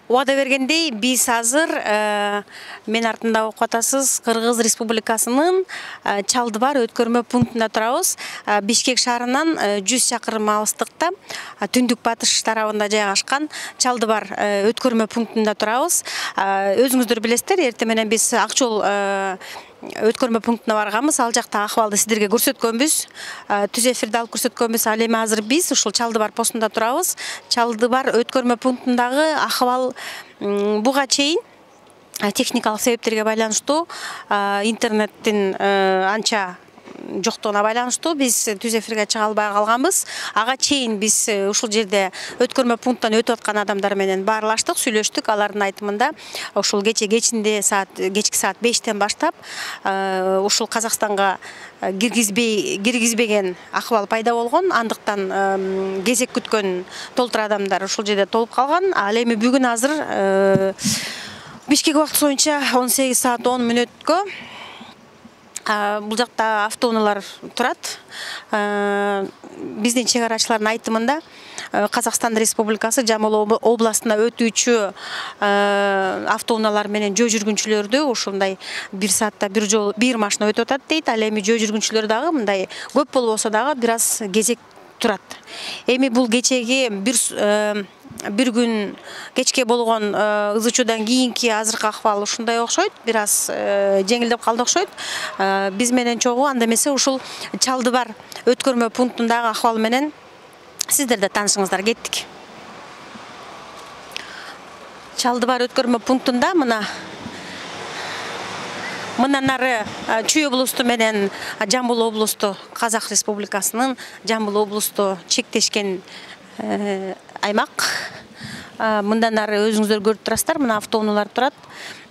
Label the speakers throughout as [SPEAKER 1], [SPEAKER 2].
[SPEAKER 1] Убада бергендей, биз азыр мен артында окуп атасыз Кыргыз Республикасынын Чалдыбар өткөрмө пунктунда турабыз. Бишкек шаарынан 100 чакырым алыстыкта түндүк батыш тарабында жайгашкан Чалдыбар өткөрмө пунктунда турабыз. Өзүңүздөр билесиздер, эртең менен биз Ак жол өткөрмө пунктуна барганбыз. Ал жакта акыбалды сиздерге көрсөткөнбүз. Түз эфирде алып көрсөткөнбүз. Ал эми азыр биз ушул Чалдыбар постунда турабыз. Чалдыбар өткөрмө пунктундагы акыбал буга чейин техникалык себептерге байланыштуу, интернеттин анча жоктугуна байланыштуу биз түз эфирге чыга албай калганбыз. Ага чейин биз ушул жерде өткөрмө пункттан өтүп аткан адамдар менен баарлаштык, сүйлөштүк. Алардын айтымында ушул кечки саат 5-тен баштап ушул Казакстанга киргизбеген акыбал пайда болгон. Андыктан кезек күткөн толтур адамдар ушул жерде толуп калган. Ал эми бүгүн азыр Бишкек убакыты боюнча 18 саат 10 мүнөткө бул жакта автоунаалар турат. Биздин чек арачылардын айтымында Казакстан Республикасы Жамбыл областына өтүүчү автоунаалар менен жөө жүргүнчүлөрдү ушундай 1 саатта бир машина өтүп атат дейт. Ал эми жөө жүргүнчүлөр дагы мындай көп болбосо дагы бир аз кезек турат. Эми бул кечеги бир күн кечке болгон ызычуудан кийинки азыркы акыбал ушундай окшойт, бир аз жеңилдеп калды окшойт. Биз менен чогуу анда эмесе ушул Чалдыбар өткөрмө пунктундагы акыбал менен сиздер да таанышыңыздар, кеттик. Чалдыбар өткөрмө пунктунда мындан нары Чүй облусту менен Жамбыл облусту, Казак Республикасынын Жамбыл облусту чектешкен аймак. Мындан нары өзүңүздөр көрүп турасыздар, мына автоунаалар турат.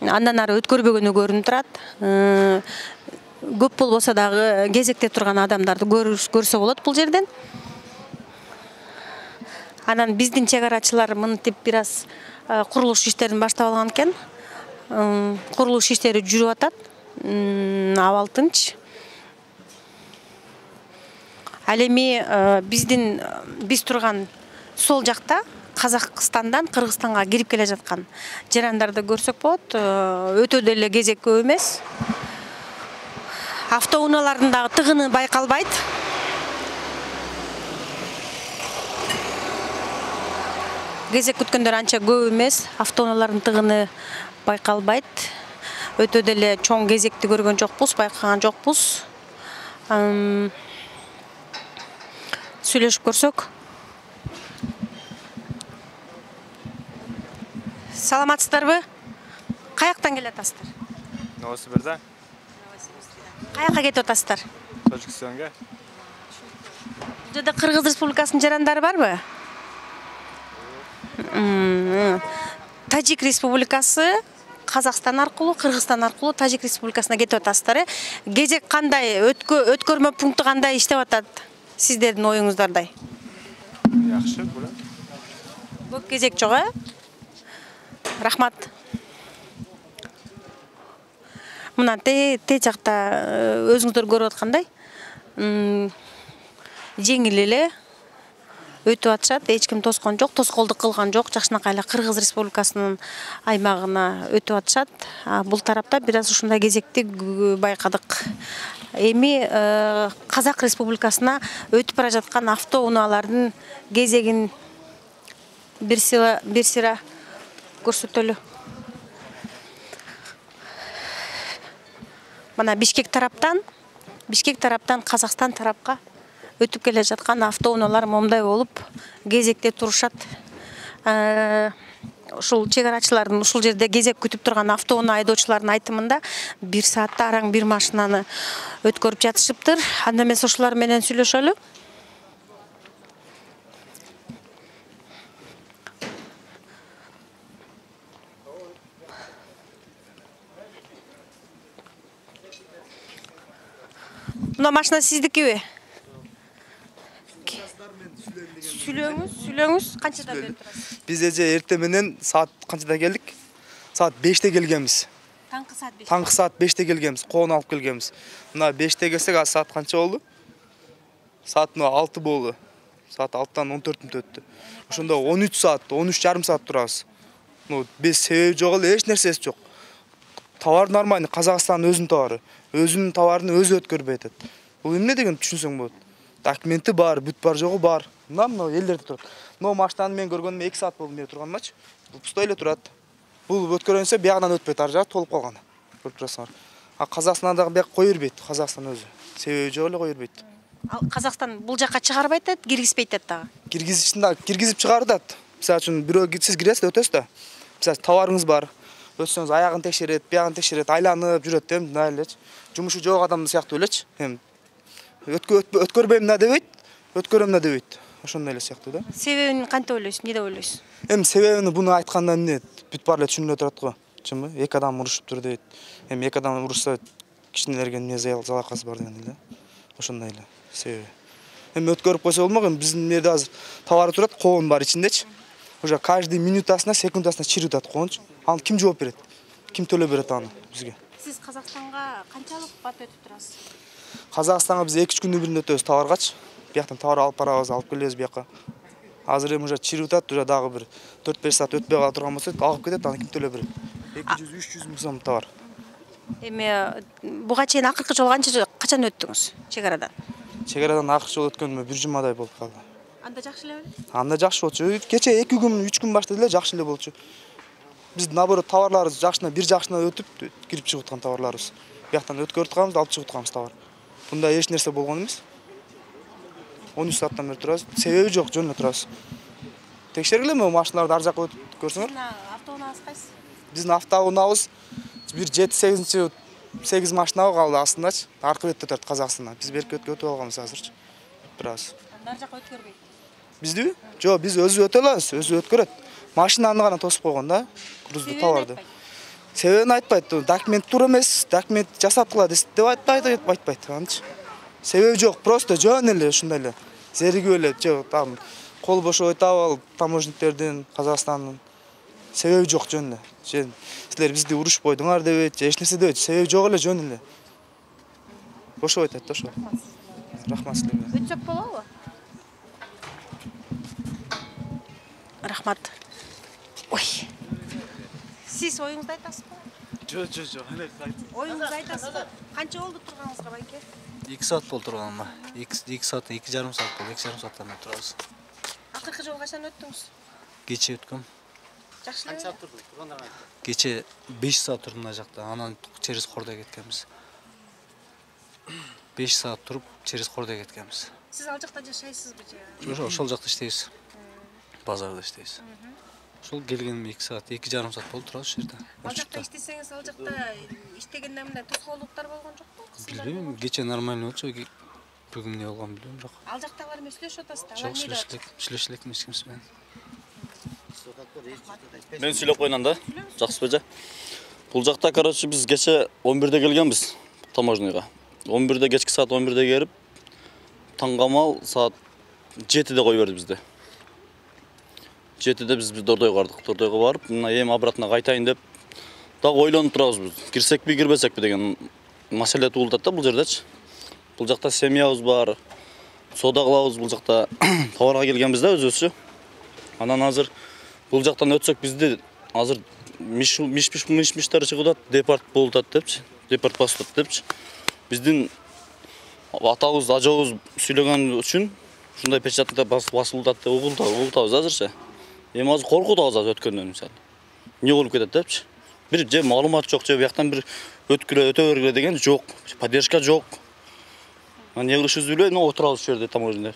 [SPEAKER 1] Андан нары өткөрбөгөнү көрүнүп турат. Көп болбосо дагы кезекте турган адамдарды көрсө болот бул жерден. Анан биздин чек арачылар мынтип бир аз курулуш иштерин баштап алган экен. Курулуш иштери жүрүп атат. Абал тынч. Ал эми биз турган сол жакта Казакстандан Кыргызстанга кирип келе жаткан жарандарды көрсөк болот. Өтө деле кезек көп эмес. Автоунаалардын дагы тыгыны байкалбайт. Кезек күткөндөр анча көп эмес. Автоунаалардын тыгыны байкалбайт. Өтө деле чоң кезекти көргөн жокпуз, байкаган жокпуз. Сүйлөшүп көрсөк. Саламатсыздарбы? Каяктан келатасыздар?
[SPEAKER 2] Новосибирден.
[SPEAKER 1] Каяка кетип атасыздар?
[SPEAKER 2] Тажикстанга.
[SPEAKER 1] Бул жерде Кыргыз Республикасынын жарандары барбы? Тажик Республикасы Казакстан аркылуу, Кыргызстан аркылуу Тажик Республикасына кетип атасыздар. Кезек кандай? Өткөрмө пункту кандай иштеп атат? Сиздердин оюңуздардай.
[SPEAKER 2] Жакшы, булат.
[SPEAKER 1] Көп кезек жок, Рахмат. Мына те жакта өзүңүздөр көрүп аткандай жеңил эле өтүп атышат, эч ким тоскон жок, тоскоолдук кылган жок, жакшынакай эле Кыргыз Республикасынын аймагына өтүп атышат. Бул тарапта бир аз ушундай кезекти байкадык. Эми Казак Республикасына өтүп бара жаткан автоунаалардын кезегин бир сыра көрсөтөлү. Мына Бишкек тараптан Казакстан тарапка өтүп келе жаткан автоунаалар момундай болуп кезекте турушат. Ушул чек арачылардын ушул жерде кезек күтүп турган автоунаа айдоочулардын айтымында 1 саатта араң бир машинаны өткөрүп жатышыптыр. Анда эмес ушулар менен сүйлөшөлү. Мына машина сиздикиби? Сүйлөңүз, канчада берип турасыз?
[SPEAKER 3] Биз эже эртең менен саат канчада келдик? Саат 5-те келгенбиз.
[SPEAKER 1] Таңкы саат 5.
[SPEAKER 3] Таңкы саат 5-те келгенбиз, коон алып келгенбиз. Мына 5-те келсек, а саат канча болду? Саат 6 болду. Саат 6-тан 14 мүнөт өттү. Ошондо 13 саат, 13,5 саат турабыз. без себеби жок эле, эч нерсеси жок. Товар нормальный, Казакстандын өзүнүн товары. Өзүнүн товарын өзү өткөрбөй атат. Бул эмне деген түшүнсөң болот. Документи бар, бүт бар жогу бар. Мына элдерде турат. Машинаны мен көргөнүм 2 саат болду мен турганмачы. Бул пустой эле турат. Бул өткөрөнсө биягынан өтпөйт, ар жагы толуп калган. Көрүп турасыңар. Казакстандагы бияк кой бербейт, Казакстан өзү. Себеби жок эле кой бербейт.
[SPEAKER 1] Ал Казакстан бул жака чыгарбайт атат, киргизбейт атат дагы.
[SPEAKER 3] Киргизип чыгардат. Мисалы үчүн бирөө сиз киресиз да өтөсүз да. Мисалы товарыңыз бар. Өтсөңүз аягын текшерет, биягын текшерет, айланып жүрөт да, мындай элечи. Жумушу жок адам сыяктуу элечи. Өткөрбөйм да дебейт, өткөрөм да дебейт. Ошондой эле сыяктуу да.
[SPEAKER 1] Себебин кантип ойлойсуз? Эмне деп ойлойсуз?
[SPEAKER 3] Себебини буну айтканда эмне бүт баары эле түшүнүлө турат го. Чынбы? Эки адам урушуптур дейт. Эки адам урушса кичинелерге эмне залакасы бар деген эле. Ошондой эле себеби. Өткөрүп койсо болмок, биздин жерде азыр товар турат, коон бар ичиндечи. Уже каждый минутасына, секундасына чирip атат коончу. Аны ким жооп берет? Ким төлөп берет аны бизге?
[SPEAKER 1] Сиз Казакстанга канчалык бат өтүп турасыз?
[SPEAKER 3] Казакстанга биз 2-3 күндүн биринде өтөбүз товаргачы. Бияктан товар алып барабыз, алып келебиз бияка. Азыр уже чирip атат, уже дагы бир 4-5 саат өтпөй кала турган болсо, алып кетет, аны ким төлөп берет? 200-300 миң сом товар.
[SPEAKER 1] Буга чейин акыркы жолу качан өттүңүз чегарадан?
[SPEAKER 3] Чегарадан акыркы жолу өткөнүмө 1 жумадай болуп калды.
[SPEAKER 1] Анда жакшы эле беле?
[SPEAKER 3] Анда жакшы болчу. Кече 2 күн, 3 күн башта эле жакшы эле болчу. Биз наоборот товарларыбыз жакшына өтүп, кирип чыгып аткан товарларыбыз. Бияктан өткөрүп атканбыз, алып чыгып атканбыз товар. Бунда эч нерсе болгон эмес. 13 сааттан бери турабыз. Себеби жок, жөн эле турабыз. Текшергилеби машиналарды ар жакка өтүп көрсөңөр?
[SPEAKER 1] Автоунаабыз кайсы?
[SPEAKER 3] Биздин автоунаабыз бир 7-8 машина калды астындачы. Аркы бетте турат Казакстандан. Биз берки өтүп алганбыз азырчы. Турабыз.
[SPEAKER 1] Ар жакка өткөрбөйт.
[SPEAKER 3] Биздиби? Жок, биз өзү өтө алабыз, өзү өткөрөт. Машинаны гана тосуп койгон да, грузду товарды. Себебин айтпайт. Документ туура эмес, документ жасаткыла деп айтпайт, анчы. Себеби жок, просто жөн эле ушундай эле. Зеригип эле, там кол бошой таап алып таможниктердин, Казакстандын. Себеби жок, жөн эле. Силер бизди урушуп койдуңар дебейт, эч нерсе дебейт. Себеби жок эле, жөн эле. Бошоп айтат да ошо. Рахмат силерге.
[SPEAKER 1] Өтсөк болобу? Рахмат. Ой. Сиз оюңузду айтасызбы?
[SPEAKER 2] Жок.
[SPEAKER 1] Оюңузду айтасызбы? Канча болду турганыңызга, байке?
[SPEAKER 4] 2 саат болду турганыма. 2 саат, 2,5 саат болду. 2,5 сааттан бери турабыз.
[SPEAKER 1] Акыркы жолу качан өттүңүз?
[SPEAKER 4] Кече өткөм.
[SPEAKER 1] Жакшы эле.
[SPEAKER 4] Кече 5 саат турдум мына жакта. Анан через Кордой кеткенбиз. 5 саат туруп через Кордой кеткенбиз.
[SPEAKER 1] Сиз ал жакта жашайсызбы же?
[SPEAKER 4] Ошол жакта иштейбиз. Базарда иштейбиз. Ошол келгениме 2 саат, 2,5 саат болду турабыз ушул жерде.
[SPEAKER 1] Ал жакта иштесеңиз, ал жакта иштегенде мындай тоскоолдуктар болгон жокпу?
[SPEAKER 4] Билбейм, кече нормально болчу. Бүгүн эмне болгонун билбейм, бирок.
[SPEAKER 1] Ал жактагылар менен сүйлөшүп атасыздар?
[SPEAKER 4] Жок, сүйлөшүп элек эч кимис менен.
[SPEAKER 5] Мен сүйлөп койнам да. Жакшыбы жа? Бул жакта, короче, биз кече 11-де келгенбиз таможняга. 11-де кечки саат 11-де келип, таңгамал саат 7-де кой берди бизди. 7-де биз Дордойго бардык. Дордойго барып, мына эми обратно кайтайын деп дагы ойлонуп турабыз биз. Кирсекпи, кирбесекпи деген маселе туулдат да бул жердечи. Бул жакта семьябыз бар. Соода кылабыз бул жакта. Товарга келгенбиз да өзүбүзчү. Анан азыр бул жактан өтсөк бизди азыр миш-миштер чыгып атат, депорт болуп атат депчи. Депорт басып атат депчи. Биздин атабыз, ажабыз сүйлөгөн үчүн ушундай печатта басылып атат деп угултабыз азырчы. Эми азыр коркутабыз азыр өткөндөн мисалы. Эмне болуп кетет депчи. Бир же маалымат жок, же бияктан бир өткүлө өтө бергиле деген жок. Поддержка жок. Эмне кылышыбызды билбей, отурабыз ушул жерде таможняда.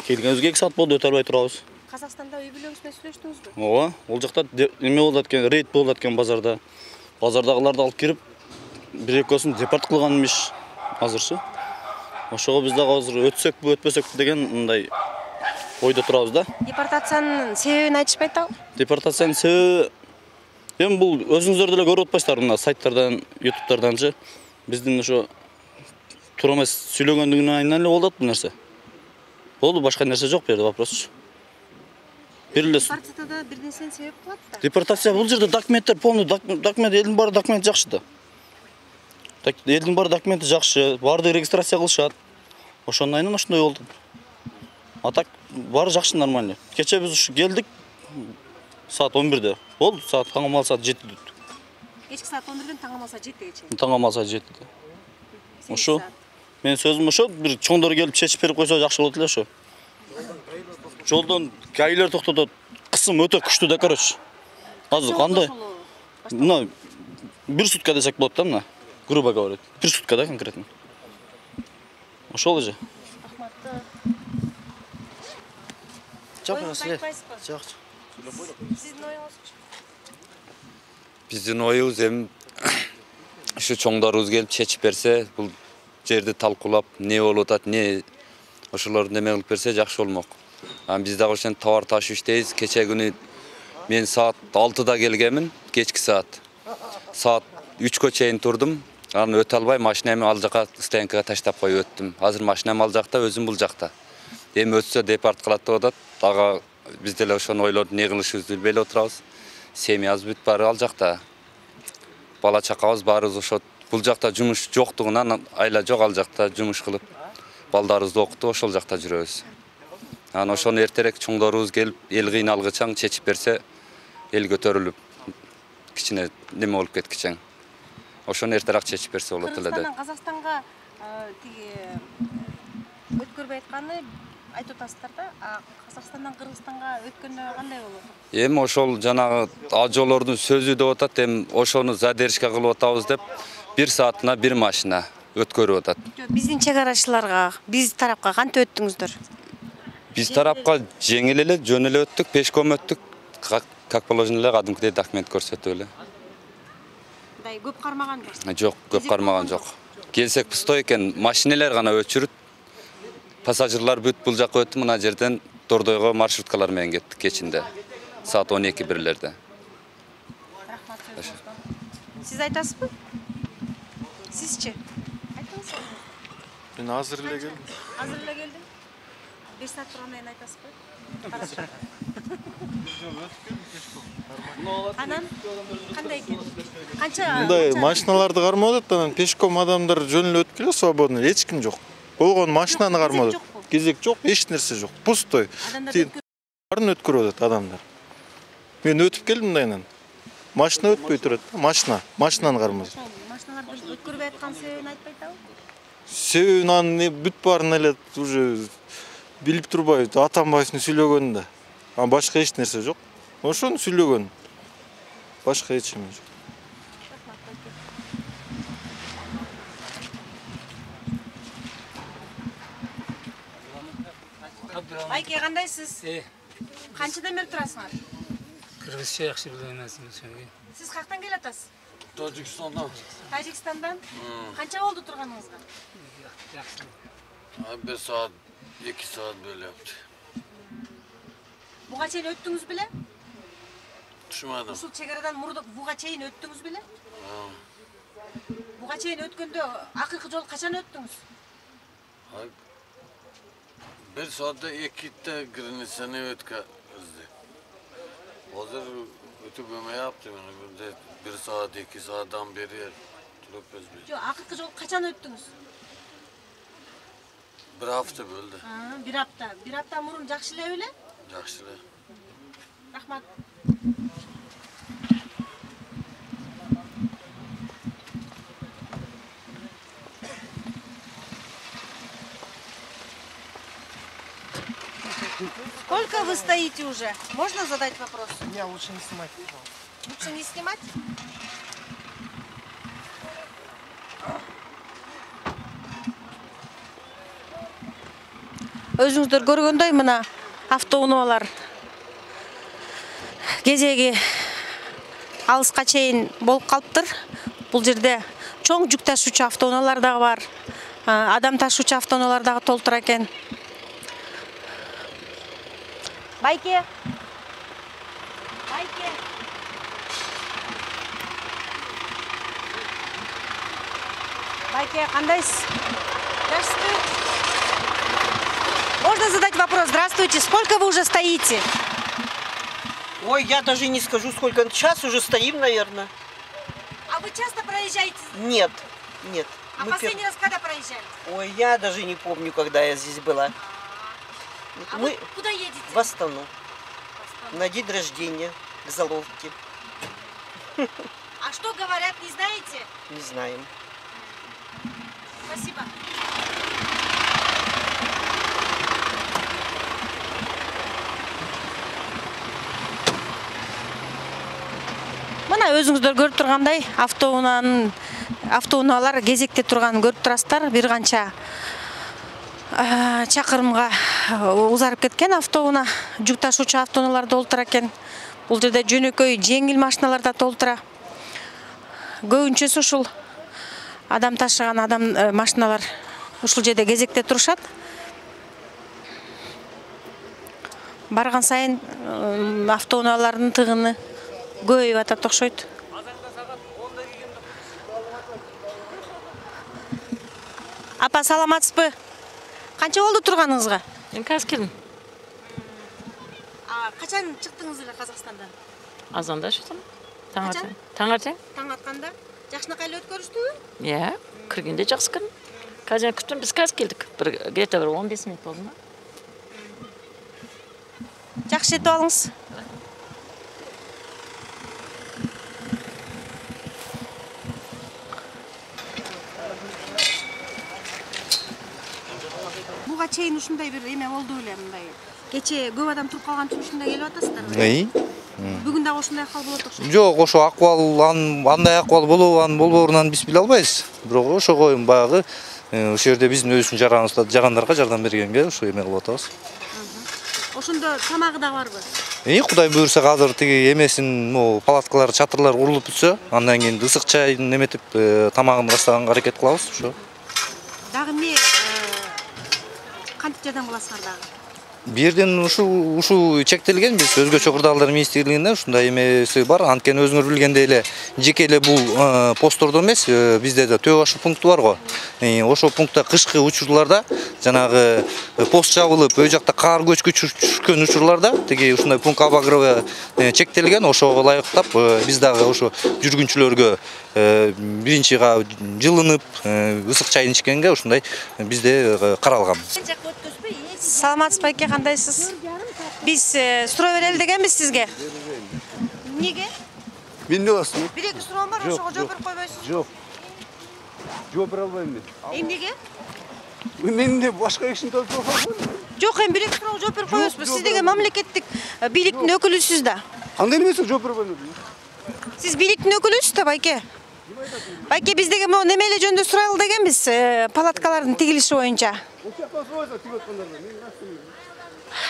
[SPEAKER 5] Келгенибизге 2 саат болду, өтө албай турабыз.
[SPEAKER 1] Казакстанда үй бүлөңүз менен сүйлөштүңүзбү?
[SPEAKER 5] Ооба, ол жакта эме болот экен, рейд болот экен базарда. Базардагыларды алып кирип, бир экөөсүн депорт кылганмыш азырчы. Ошого биз дагы азыр өтсөкпү, өтпөсөкпү деген мындай ойдо турабыз да.
[SPEAKER 1] Депортациянын себебин айтышпайт ал?
[SPEAKER 5] Депортациянын себеби эми бул өзүңүздөр деле көрүп атпайсыздарбы мына сайттардан, ютубтарданчы. Биздин ошо туура эмес сүйлөгөндүгүнөн эле болот бул нерсе. Болду, башка нерсе жок бу жерде вопросчу.
[SPEAKER 1] Депортацияда бир нерсени себеп кылат да.
[SPEAKER 5] Депортация бул жерде документтер полный, документ элдин баары документ жакшы да. Элдин баары документи жакшы, баардыгы регистрация кылышат. Ошондон ошондой болду. А так баары жакшы, нормально. Кече биз ушу келдик. Saat 11'de. Oldu. Saat tangam saat 7'de.
[SPEAKER 1] Кечки саат 11-ден таңам saat 7-ге чейин.
[SPEAKER 5] Tangam saat 7'de. Ошо. Мен сөзүм ошо, бир чоңдор келип чечип берип койсо жакшы болот эле ошо. Жолдон гаилер токтотот. Кысым өтө күчтүү да, короче. Азыр кандай? Мына бир сутка десек болот да, мына. Грубо говоря. Бир сутка да конкретно. Ошол эле.
[SPEAKER 6] Жок маселе. Жок.
[SPEAKER 1] Сиздин оюңуз?
[SPEAKER 7] Биздин оюбуз эми ушу чоңдорубуз келип чечип берсе, бул жерди талкуулап, не болуп атат, не ошолорду неме кылып берсе жакшы болмок. Биз дагы ошентип товар ташып иштейбиз. Кече күнү мен саат 6-да келгенмин, кечки саат. Саат 3-кө чейин турдум. Аны өтө албай машинамды ал жака стоянкага таштап коюп өттүм. Азыр машинам ал жакта, өзүм бул жакта. Эми өтсө депорт кылат деп атат. Дагы биз деле ошону ойлоп, не кылышыбызды билбей эле отурабыз. Семьябыз бүт баары ал жакта. Бала чакабыз баарыбыз ошо бул жакта жумуш жоктугунан айла жок, ал жакта жумуш кылып, балдарыбызды окутуп ошол жакта жүрөбүз. Анан ошону эртерээк чоңдорубуз келип, эл кыйналгычаң чечип берсе, эл көтөрүлүп, кичине неме болуп кеткичең. Ошону эртерээк чечип берсе болот эле деп.
[SPEAKER 1] Казакстанга тиги өткөрбөй айтканы айтып атасыздар да, Казакстандан Кыргызстанга өткөндө кандай болот?
[SPEAKER 7] Эми ошол жанагы ажоолордун сөзү деп атат, эми ошону задержка кылып атабыз деп 1 саатына 1 машина өткөрүп атат.
[SPEAKER 1] Биздин чек арачыларга, биз тарапка кантип өттүңүздөр?
[SPEAKER 7] Биз тарапка жеңил эле, жөн эле өттүк, пешком өттүк. Как положено эле, кадимкидей документ көрсөтүп эле.
[SPEAKER 1] Дай көп кармаганбы?
[SPEAKER 7] Жок, көп кармаган жок. Келсек пустой экен, машинелер гана өчүрүт. Пассажирлар бүт бул жакка өттү, мына жерден Тордойго маршруткалар менен кеттик кечинде. Саат 12-1-лерде.
[SPEAKER 1] Рахмат сөзүңүзгө. Сиз айтасызбы? Сизчи? Айтыңыз.
[SPEAKER 2] Мен азыр эле келдим.
[SPEAKER 1] Азыр эле келдим. 5 саат тургандан кийин айтасызбы? Анан кандай экен? Канча?
[SPEAKER 8] Мындай машиналарды кармап атат, анан пешком адамдар жөн эле өтүп келет, свободно, эч ким жок. Болгон машинаны кармап атат. Кезек жок, эч нерсе жок. Пустой. Баарын өткөрүп атат адамдар. Мен өтүп келдим мындайынан. Машина өтпөй турат, машинаны кармап.
[SPEAKER 1] Машиналарды өткөрбөй аткан себебин айтпай атабы?
[SPEAKER 8] Себебин анын бүт баарын эле уже билип турбай, Атамбаевдин сүйлөгөнү да. Анан башка эч нерсе жок. Ошону сүйлөгөн. Башка эч нерсе жок.
[SPEAKER 1] Байке, кандайсыз? Канчадан бери турасыңар?
[SPEAKER 9] Кыргызча жакшы биле эмесмин.
[SPEAKER 1] Сиз каяктан келатасыз?
[SPEAKER 6] Тажикстандан.
[SPEAKER 1] Тажикстандан? Канча болду турганыңызга?
[SPEAKER 9] Жакшы.
[SPEAKER 6] 1 saat, 2 saat böyle yaptı.
[SPEAKER 1] Буга чейин өттүңүз беле?
[SPEAKER 6] Düşmedim.
[SPEAKER 1] Ушул чек арадан буга чейин өттүңүз беле? Буга чейин өткөндө акыркы жолу качан өттүңүз?
[SPEAKER 6] 1 saatte 2'de girinisini ötküzdü. Hazır ötübüme yaptım yani. 1 saat, 2 saattan beri durup bezmiş.
[SPEAKER 1] Yok, akırkı jol kaçan öttünüz?
[SPEAKER 6] 1 hafta böldü.
[SPEAKER 1] Bir hafta. Bir hafta murun jakşı ele öyle?
[SPEAKER 6] Jakşı ele.
[SPEAKER 1] Rahmat. Сколько вы стоите уже? Можно задать вопрос?
[SPEAKER 3] Не, лучше не снимать.
[SPEAKER 1] Лучше не снимать? Өзүңүздөр көргөндөй мына автоунаалар кезеги алыска чейин болуп калыптыр. Бул жерде чоң жүк ташуучу автоунаалар дагы бар. Адам ташуучу автоунаалар дагы толтура экен. Байке. Байке. Байке, кандайсыз? Здравствуйте. Можно задать вопрос? Здравствуйте. Сколько вы уже стоите?
[SPEAKER 10] Ой, я даже не скажу, сколько. Час уже стоим, наверное.
[SPEAKER 1] А вы часто проезжаете?
[SPEAKER 10] Нет, нет.
[SPEAKER 1] А последний раз когда проезжали?
[SPEAKER 10] Ой, я даже не помню, когда я здесь была.
[SPEAKER 1] А вы куда едете?
[SPEAKER 10] В Астану. На день рождения. к заловке.
[SPEAKER 1] А что говорят, не знаете?
[SPEAKER 10] Не знаем.
[SPEAKER 1] Спасибо. Мына өзүңүздөр көрүп тургандай автоунаалар кезекте турганын көрүп турасыздар. Бир канча чакырымга узарып кеткен автоунаа, жүк ташуучу автоунаалар толтура экен. Бул жерде жөнөкөй жеңил машиналар да толтура. Көбүнчөсү ушул адам ташыган машиналар ушул жерде кезекте турушат. Барган сайын автоунаалардын тыгыны көбөйүп атат окшойт. Апа, саламатсызбы? Канча болду турганыңызга?
[SPEAKER 11] Мен казыр келдим.
[SPEAKER 1] Качан чыктыңыз эле Казакстандан?
[SPEAKER 11] Азанда чыктым. Таңертең.
[SPEAKER 1] Таң атканда. Жакшынакай эле өткөрүштүбү?
[SPEAKER 11] Иә, киргенде жакшы кирдим. Казыр күттүм, биз казыр келдик. Где-то 15 минут болду.
[SPEAKER 1] Жакшы жетип алыңыз. Буга чейин ушундай бир эме болду беле, мындай. Кече көп адам туруп калган үчүн ушундай келип атасыздарбы? Бүгүн дагы ушундай акыбал болот окшойт.
[SPEAKER 3] Жок, ошо акыбал андай акыбал болобу, болбоорунан биз биле албайбыз. Бирок ошого баягы ошол жерде биздин өзүбүздүн жарандарга жардам бергенге ошо эме кылып атабыз.
[SPEAKER 1] Ошондо тамагы да барбы?
[SPEAKER 3] Кудай буйрса азыр тиги эмесин, палаткалар, чатырлар курулуп бүтсө, андан кийин ысык чайын эметип тамагын ырастаганга аракет кылабыз ошо.
[SPEAKER 1] Дагы эмне кантип жардам кыласыздар дагы?
[SPEAKER 3] Бирден ушу чектелген, биз өзгөчө кырдаалдар министрлигинде ушундай эмеси бар. Анткени өзүңөр билгендей эле жеке эле бул посттордо эмес, бизде да төө башы пункту бар го. Ошол пунктта кышкы учурларда жанагы пост жабылып, өй жакта кар көчкү түшкөн учурларда тиги ушундай пункт обогрева чектелген. Ошого ылайыктап биз дагы ошо жүргүнчүлөргө биринчи жылынып, ысык чайын ичкенге ушундай бизде каралган.
[SPEAKER 1] Саламатсызбы эке, кандайсыз? Биз суроо берели дегенбиз сизге. Эмнеге?
[SPEAKER 12] Мен эмне кыласың?
[SPEAKER 1] Бир-эки суроом бар, ошого жооп берип койбойсузбу?
[SPEAKER 12] Жок. Жооп бере албайм мен.
[SPEAKER 1] Эмнеге?
[SPEAKER 12] Мен эмне башка кишини жооп бере албайм.
[SPEAKER 1] Жок, эми бир-эки суроого жооп берип койбойсузбу? Сиз деген мамлекеттик бийликтин өкүлүсүз да.
[SPEAKER 12] Кандай эмесиң жооп бере албайм?
[SPEAKER 1] Сиз бийликтин өкүлүсүз да, байке. Байке, биз деген могу неме эле жөнүндө сурайлы дегенбиз, палаткалардын тигилиши боюнча.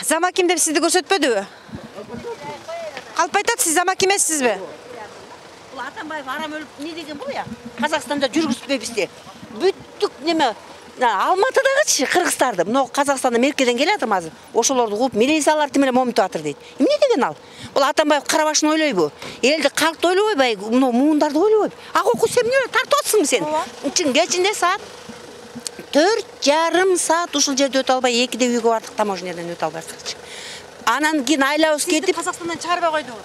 [SPEAKER 1] Замаким деп сизди көрсөтпөдүбү? Калп айтат, сиз замаким эмессизби?
[SPEAKER 13] Бул Атамбаев арам өлүп не деген бул я? Казакстанда жүргүзбөйбүзде. Бүттүк неме Алматыдагычы кыргыздарды, мына Казакстанда меркеден келатыр азыр. Ошолорду кууп милициялар тим эле момунтуп атыр дейт. Эмне деген ал? Бул Атамбаев карабашын ойлойбу? Элди, калкты ойлобойбай, мына муундарды ойлобойбу? Акы сен эмне тартып атсыңбы сен? Кечинде саат 4,5 саат ушул жерде өтө албай, 2-де үйгө бардык, таможнядан өтө албайсызчы. Анан кийин айлабыз кетип,
[SPEAKER 1] Казакстандан чыгарбай койдуңуз.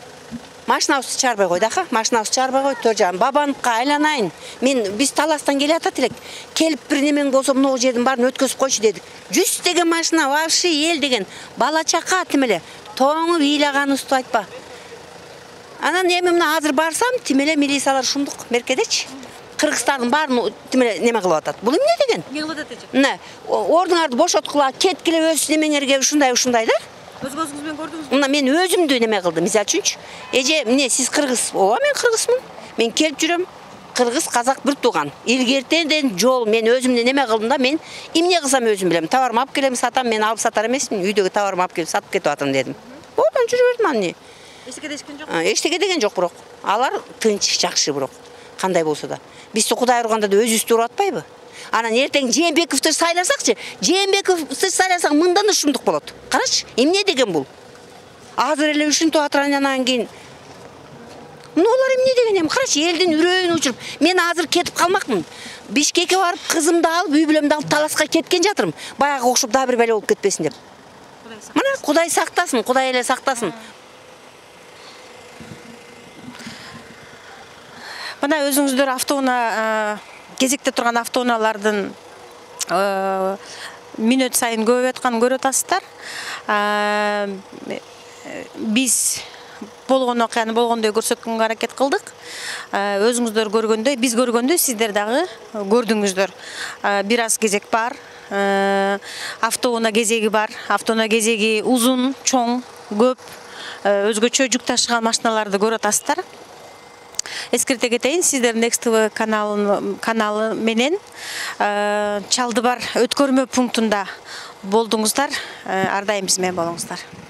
[SPEAKER 13] Машинабызды чыгарбай койду, ака. Машинабызды чыгарбай койду, 4,5. Бабановго айланайын. Биз таластан келе атат элек. Келип бир немең болсо, мына жердин баарын өткөзүп койчу дедик. 100 деген машина, вообще эл деген бала чака тим эле тоңуп ыйлаганыбызды айтпа. Анан эми мына азыр барсам, тим эле милициялар ушундук меркедечи. Кыргызстандын баарын тим эле неме кылып атат. Бул эмне деген?
[SPEAKER 1] Не кылып атат эже?
[SPEAKER 13] Мына, ордуңарды бошоткула, кеткиле өз немеңерге ушундай да.
[SPEAKER 1] Өз көзүңүз менен көрдүңүзбү?
[SPEAKER 13] Мына мен өзүмдү неме кылдым, мисалы үчүнчү. Эже, эмне сиз кыргыз? Ооба, мен кыргызмын. Мен келип жүрөм. Кыргыз, казак бир тууган. Илгертенден жол мен өзүмдү неме кылдым да, мен эмне кылсам өзүм билем. Товарымды алып келем, сатам, мен алып сатар эмесмин. Үйдөгү товарымды алып келип сатып кетип атам дедим. Одан жүрө бердим аны.
[SPEAKER 1] Эчтеке дешкен жок?
[SPEAKER 13] Эчтеке деген жок бирок. Алар тынч, жакшы бирок. Кандай болсо да. Бизди Кудай урганда да өзүбүздү уруп атпайбы? Анан эртең Жээнбековду сайласакчы, Жээнбековду сайласаң мындан да ушундук болот. Карачы, эмне деген бул? Азыр эле ушинтип атыр, андан кийин мыналар эмне деген эми? Карачы, элдин үрөйүн учуруп, мен азыр кетип калмакмын. Бишкекке барып, кызымды алып, үй бүлөмдү алып таласка кеткен жатырмын. Баягы окшоп дагы бир бала болуп кетпесин деп. Мына Кудай сактасын, Кудай эле сактасын.
[SPEAKER 1] Мына өзүңүздөр автоунаа кезекте турган автоунаалардын мүнөт сайын көбөйүп атканын көрүп атасыздар. Биз болгон окуяны болгондой көрсөткөнгө аракет кылдык. Өзүңүздөр көргөндөй, биз көргөндөй сиздер дагы көрдүңүздөр. Бир аз кезек бар. Автоунаа кезеги бар. Автоунаа кезеги узун, чоң, көп. Өзгөчө жүк ташыган машиналарды көрүп атасыздар. Эскерте кетейин, сиздер Next TV каналы менен Чалдыбар өткөрмө пунктунда болдуңуздар. Ар дайым биз менен болуңуздар.